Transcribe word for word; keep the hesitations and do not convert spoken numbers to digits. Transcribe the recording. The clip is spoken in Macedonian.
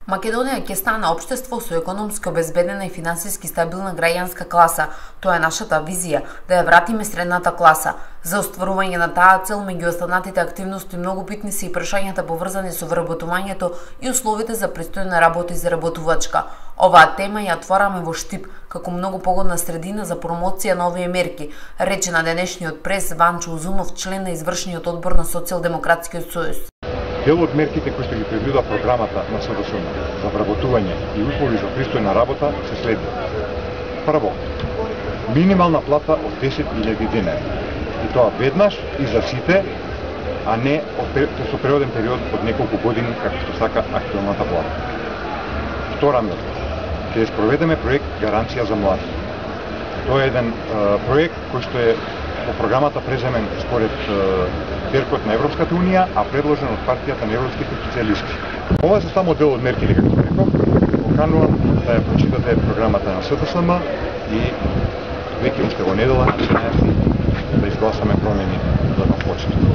Македонија ќе стане општество со економски обезбедена и финансиски стабилна граѓанска класа. Тоа е нашата визија, да ја вратиме средната класа. За остварување на таа цел, меѓу останатите активности многу битни се и прашањата поврзани со вработувањето и условите за пристојна работа и заработувачка. Оваа тема ја отвараме во Штип, како многу погодна средина за промоција на овие мерки, рече на денешниот прес Ванчо Узунов, член на извршниот одбор на Социјалдемократскиот сојуз. Дел од мерките кои што ги предвидува програмата на СДСМ за вработување и услови за пристојна работа се следи. Прво, минимална плата од десет илјади денари. И тоа веднаш и за сите, а не со преводен период од неколку години, како што сака актуелната влада. Втора мерка, ќе спроведеме проект Гаранција за млади. Тоа е еден е, проект кој што е по програмата преземен според теркот на Европската унија, а предложен од партијата на европските социјалисти. Ова се само дел од мерките, како реков. Поканувам да ја прочитате програмата на СДСМ и веќе уште во недела да изгласаме промени за на почет.